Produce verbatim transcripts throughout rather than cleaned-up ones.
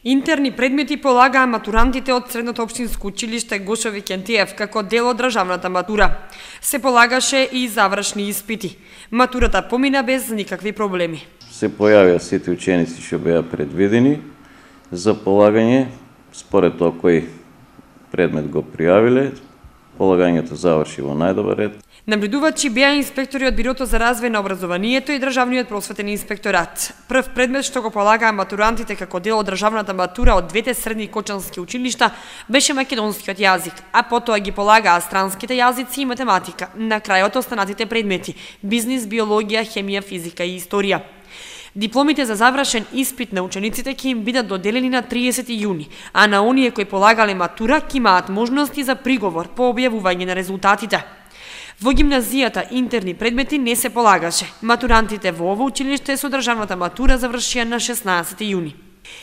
Интерни предмети полагаа матурантите од Средното општинско училиште Гошо Викентиев како дел од државната матура. Се полагаше и завршни испити. Матурата помина без никакви проблеми. Се појавија сите ученици што беа предвидени за полагање, според тоа кој предмет го пријавиле, полагањето заврши во најдобар ред. Набредувачи беа инспектори од Бирото за развој на образованието и Државниот просветен инспекторат. Прв предмет што го полагаа матурантите како дел од државната матура од двете средни кочански училишта беше македонскиот јазик, а потоа ги полагаа странските јазици и математика. На крајот останатите предмети: бизнис, биологија, хемија, физика и историја. Дипломите за завршен испит на учениците ќе им бидат доделени на триесети јуни, а на оние кои полагале матура ќе имаат можности за приговор по објавување на резултатите. Во гимназијата интерни предмети не се полагаше. Матурантите во ово училиште со државната матура завршија на шеснаесети јуни.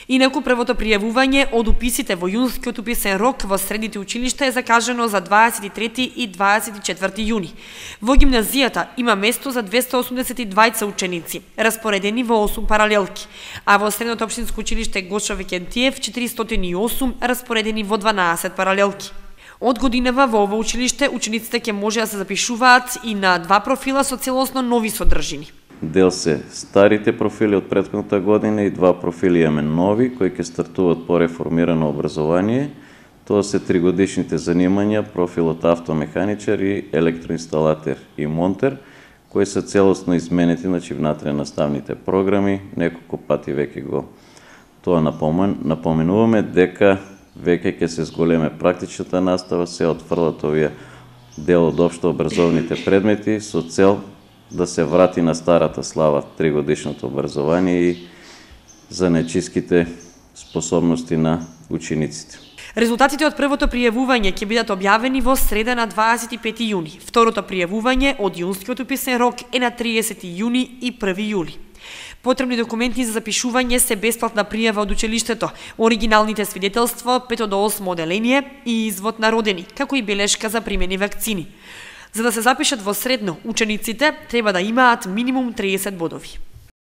Инаку првото пријавување од уписите во јунскиот уписен рок во средните училишта е закажано за дваесет и трети и дваесет и четврти јуни. Во гимназијата има место за двесте осумдесет и двајца ученици, распоредени во осум паралелки, а во Средното општинско училиште Гошо Викентиев четиристотини и осум распоредени во дванаесет паралелки. Од годинава во ово училиште учениците ќе може да се запишуваат и на два профила со целосно нови содржини. Дел се старите профили од претходната година и два профили имаме нови, кои ќе стартуваат по реформирано образование. Тоа се тригодишните занимања, профилот автомеханичар и електроинсталатер и монтер, кои се целосно изменети, значи внатре наставните програми, неколку пати веќе го тоа напомен, напоменуваме дека веќе ќе се зголеме практичната настава, се отфрлат овие дел од општо образовните предмети со цел да се врати на старата слава тригодишното образование и занечиските способности на учениците. Резултатите од првото пријавување ќе бидат објавени во среда на дваесет и пети јуни. Второто пријавување од јунскиот уписен рок е на триесети јуни и први јули. Потребни документи за запишување се бесплатна пријава од училиштето, оригиналните свидетелства, пето до осмо оделение и извод на родени, како и белешка за примени вакцини. За да се запишат во средно, учениците треба да имаат минимум триесет бодови.